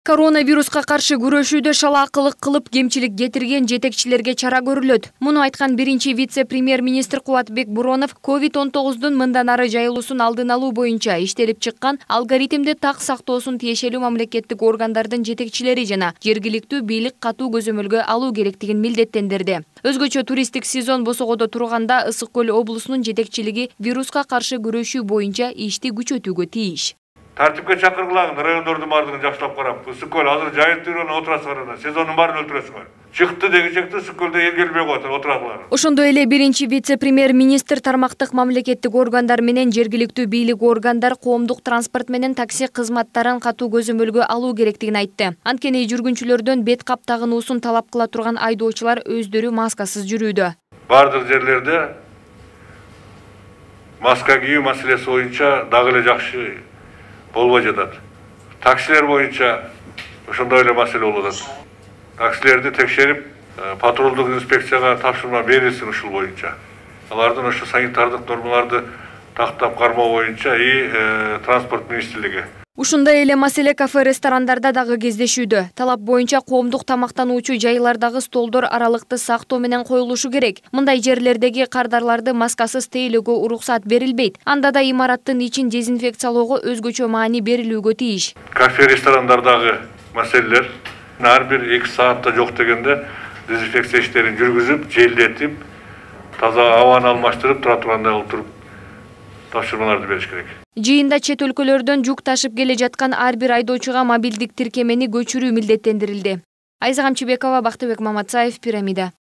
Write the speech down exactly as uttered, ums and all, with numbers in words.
Коронавируска каршы күрөшүүдө шалаакылык кылып кемчилик кетирген жетекчилерге чара көрүлөт. Муну айткан биринчи вице-премьер-министр Кубатбек Буронов ковид он тогуздун мындан ары жайылуусун алдын алуу боюнча иштелип чыккан алгоритмди так сактоосун тиешелүү мамлекеттик органдардын жетекчилери жана жергиликтүү бийлик катуу көзөмөлгө алуу керектигин милдеттендирди. Өзгөчө туристтик сезон босогодо турганда Ысык көл облусунун жетекчилиги вируска каршы күрөшүү боюнча ишти күчөтүүгө тийиш. Тартипке чакыргылагын райондордун баардыгын жакшылап карап, Ысык көл азыр жайып жүргөн отурасыңар, сезондун баарын өлтүрөсүңөр. Чыкты дегичекте Ысык көлдө эл келбей коет, отуралар. Ошондой эле биринчи вице-премьер-министр тармактык мамлекеттик органдар менен жергиликтүү бийлик органдар коомдук транспорт менен такси кызматтарын катуу көзөмөлгө алуу керектигин айтты. Анткени жүргүнчүлөрдөн бет кап тагынуусун талап кыла турган айдоочулар өздөрү маскасыз жүрүүдө. Бардык жерлерде маска кийүү маселеси боюнча дагы эле жакшы болбой жатат. Таксилер боюнча ошондой эле маселе болуп атат. Таксилерди текшерип, патрулдук инспекцияга тапшырма берилсин ушул боюнча. Алардын ошо санитардык нормаларды тактап кармоо боюнча и транспорт министрлиги. Ушундай эле маселе кафе-ресторандарда дагы кездешүүдө. Талап боюнча коомдук тамактануучу жайлардагы столдор аралыкты сактоо менен коюлушу керек. Мындай жерлердеги кардарларды маскасыз тейлөөгө уруксат берилбейт. Анда да имараттын ичин дезинфекциялоого өзгөчө маани берилүүгө тийиш. Кафе-ресторандардагы маселелер ар бир эки саатта жок дегенде дезинфекция иштерин жүргүзүп, желдетип, таза абаны алмаштырып тура тургандай кылып туруп тапшырмаларды бериш керек. Жыйында чет өлкөлөрдөн жүк ташып келе жаткан ар бир айдоочуга мобилдик тиркемени көчүрүү милдеттендирилди. Айза Камчыбекова, Бактыбек Маматсаев, Пирамида.